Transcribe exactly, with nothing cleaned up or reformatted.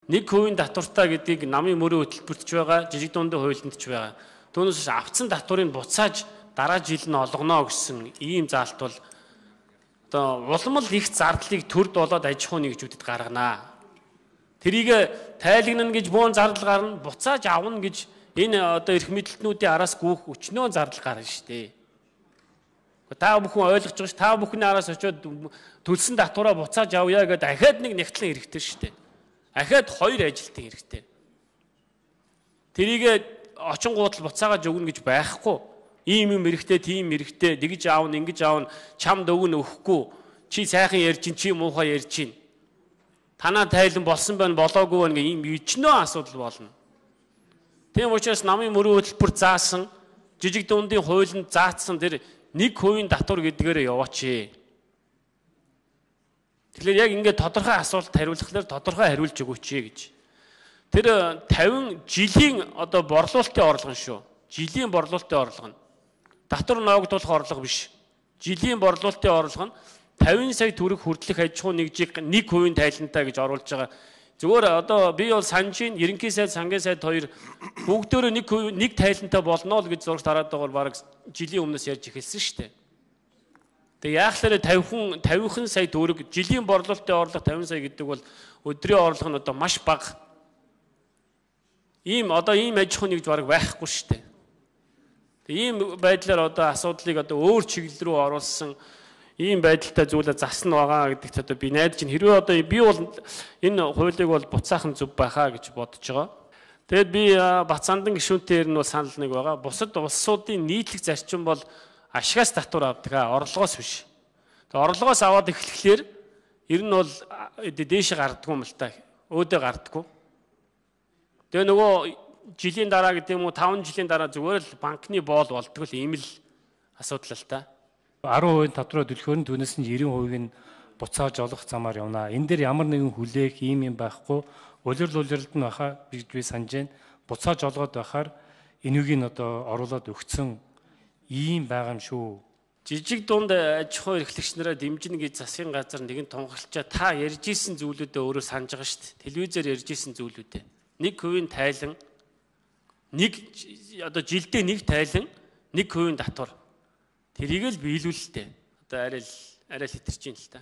Нэг хувийн татвартай гэдгийг намын мөрийн хөтөлбөрт ч байгаа, жижиг дундын хуулинд ч байгаа. Түүнээс авцсан татварыг буцааж дараа жил нь олгоно гэсэн ийм заалт бол одоо улмал их зардлыг төрд болоод аж ахуйн нэгжүүдэд гарганаа. Тэрийг тайлагнана гэж буун зардал гарна, буцааж авна гэж энэ одоо эрх мэдэлтнүүдийн араас гүйх өчнөө зардал гарна шүү дээ. Та бүхэн ойлгож байгаа ш, та бүхний араас очиод төлсөн татвараа буцааж авъя гэдэг дахиад нэг нэгтлэн хэрэгтэй шүү дээ. Дахиад хоёр ажилтан хэрэгтэй. Тэрийг очингуудл буцаагааж өгнө гэж байхгүй. Ийм юм хэрэгтэй, тийм хэрэгтэй, тэгж аавна, ингэж аавна, чамд өгнө өгөхгүй. Чи сайхан ярьж чинь, чи муухай ярьж чинь. Танаа тайлан болсон байна, болоогүй байна гэх ийм ичнөө асуудал болно. Тийм учраас намын мөрийн хөтөлбөр заасан, жижиг дундын хуулинд заасан тэр нэг хувийн татвар гэдгээр яваач. Тэгэхээр яг ингээд тодорхой асуулт хариулахлаар тодорхой хариулж өгөөч гэж. Тэр тавин жилийн одоо борлуулалтын орлого шүү. Жилийн борлуулалтын орлого нь татвар ноогдуулах орлого биш. Жилийн борлуулалтын орлого нь тавин сая төгрөг хүртэлх аж ахуйн нэгжийг нэг хувийн тайлантай гэж оруулж байгаа. Зүгээр одоо би бол санаж ин ерөнхий сайд, сангийн сайд хоёр бүгдөө нэг нэг тайлантай болно л гэж зураг тараад байгаа баг жилийн өмнөөс ярьж эхэлсэн шүү дээ. Тэгээ яахлаарэ тавин тавин сая төгрөг жилийн борлуулалтын орлого тавин сая гэдэг бол өдрийн орлого нь одоо маш бага. Ийм одоо ийм аж ахуйн нэгж баг байхгүй шүү дээ. Ийм байдлаар одоо асуудлыг одоо өөр чиглэл рүү оруулсан ийм байдалтай зүйлээ засна байгаа гэдэгт одоо би найдаж чинь хэрвээ одоо би бол энэ хуулийг бол буцаахан зөв байхаа гэж бодож байгаа. Тэгэд би Бацаандан гишүүнтэйэр нь бол санал нэг байгаа. Бусад улсуудын нийтлэг зарчим бол ашигаас татвар авдаг аа, орлогоос биш. Тэгээ орлогоос аваад эхлэхлээр ер нь бол дээшээ гардггүй юм л та. Өөдөө гардггүй. Тэгээ нөгөө жилийн дараа гэдэг юм уу таван жилийн дараа зүгээр л банкны боол болдог л ийм л асуудал л та. арван хувийн татвараа төлөхөөр нь түүнээс нь девять хувийг нь буцааж олох замаар явна. Энэ дээр ямар нэгэн хүлээх ийм юм байхгүй. Улирал улиралд нь баха би би санаж байна. Буцааж олгоод байхаар энэгийг нь одоо оруулаад өгцөн ийм байгаа юм шүү. Жижиг дунд аж ахуй эрхлэгч нараа дэмжинэ гэж засгийн газар нэгэн тунхаглачаа та ярьж исэн зүйлүүдээ өөрөө санаж байгаа шүү дээ. Телевизээр ярьж исэн зүйлүүдээ. Нэг хувийн тайлан, нэг одоо жилдээ нэг тайлан, нэг хувийн татвар. Тэрийг л биелүүлэлтэй. Одоо арай л арай л хэтэрч юм л та.